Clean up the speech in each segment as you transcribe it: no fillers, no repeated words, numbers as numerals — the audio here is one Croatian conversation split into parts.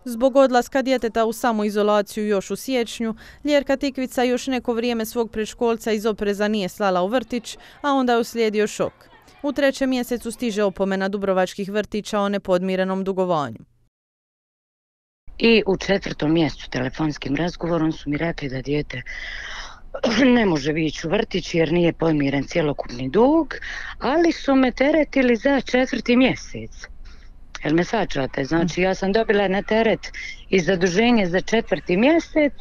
Zbog odlaska djeteta u samoizolaciju još u siječnju, Ljerka Tikvica još neko vrijeme svog predškolca iz opreza nije slala u vrtić, a onda je uslijedio šok. U 3. mjesecu stiže opomena dubrovačkih vrtića o nepodmirenom dugovanju. I u 4. mjesecu telefonskim razgovorom su mi rekli da dijete ne može ići u vrtić jer nije podmiren cjelokupni dug, ali su me teretili za 4. mjesec. Jel me svačate? Znači ja sam dobila na teret i zaduženje za 4. mjesec,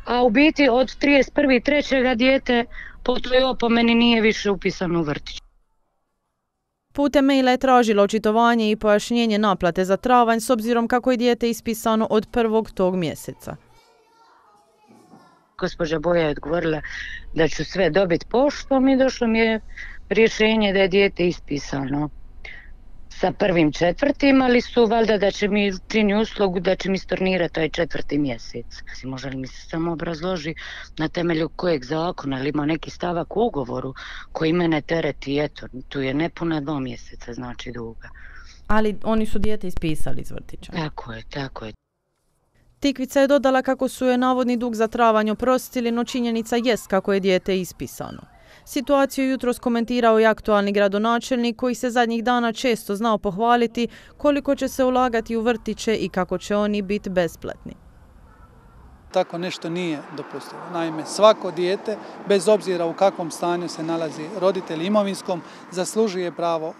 a u biti od 31.3. dijete po toj opomeni nije više upisano u vrtić. Putem maila je tražilo očitovanje i pojašnjenje naplate za travanj s obzirom kako je dijete ispisano od 1. tog mjeseca. Gospođa Boja je odgovorila da ću sve dobiti poštom i došlo mi je rješenje da je dijete ispisano sa 1.4. ali su valjda da će mi čini uslugu da će mi stornirati taj 4. mjesec. Može li mi se samo obrazloži na temelju kojeg zakona ili ima neki stavak u ugovoru koji mene tereti, eto, tu je nepuna 2 mjeseca znači duga. Ali oni su dijete ispisali iz vrtića. Tako je. Tikvica je dodala kako su je navodni dug za travanj oprostili, no činjenica jest kako je dijete ispisano. Situaciju jutros komentirao i aktualni gradonačelnik koji se zadnjih dana često znao pohvaliti koliko će se ulagati u vrtiće i kako će oni biti besplatni. Tako nešto nije dopustivo. Naime, svako dijete, bez obzira u kakvom stanju se nalazi roditelj imovinskom, zaslužuje pravo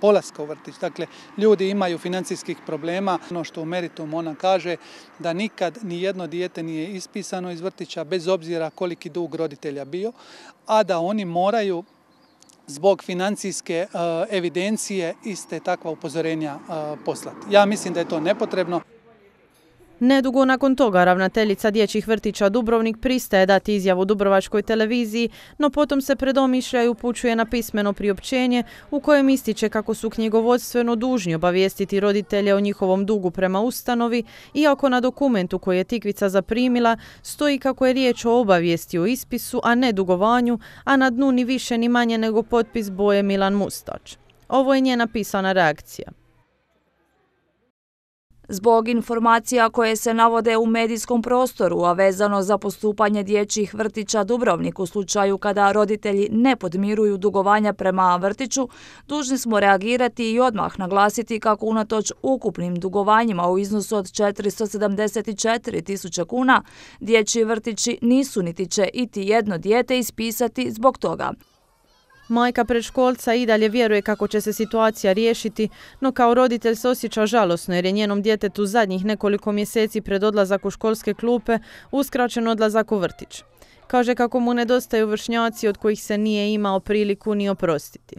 polaska u vrtić. Dakle, ljudi imaju financijskih problema. Ono što u meritumu ona kaže da nikad ni jedno dijete nije ispisano iz vrtića, bez obzira koliki dug roditelja bio, a da oni moraju zbog financijske evidencije iste takva upozorenja poslati. Ja mislim da je to nepotrebno. Nedugo nakon toga ravnateljica dječjih vrtića Dubrovnik pristaje dati izjavu Dubrovačkoj televiziji, no potom se predomišlja i upućuje na pismeno priopćenje u kojem ističe kako su knjigovodstveno dužni obavijestiti roditelje o njihovom dugu prema ustanovi, iako na dokumentu koji je Tikvica zaprimila stoji kako je riječ o obavijesti o ispisu, a ne dugovanju, a na dnu ni više ni manje nego potpis Boje Milan Mustač. Ovo je njena pisana reakcija. Zbog informacija koje se navode u medijskom prostoru, a vezano za postupanje dječjih vrtića Dubrovnik u slučaju kada roditelji ne podmiruju dugovanja prema vrtiću, dužni smo reagirati i odmah naglasiti kako unatoč ukupnim dugovanjima u iznosu od 474.000 kuna, dječji vrtići nisu niti će iti jedno dijete ispisati zbog toga. Majka predškolca i dalje vjeruje kako će se situacija riješiti, no kao roditelj se osjeća žalosno jer je njenom djetetu zadnjih nekoliko mjeseci pred odlazak u školske klupe uskraćen odlazak u vrtić. Kaže kako mu nedostaju vršnjaci od kojih se nije imao priliku ni oprostiti.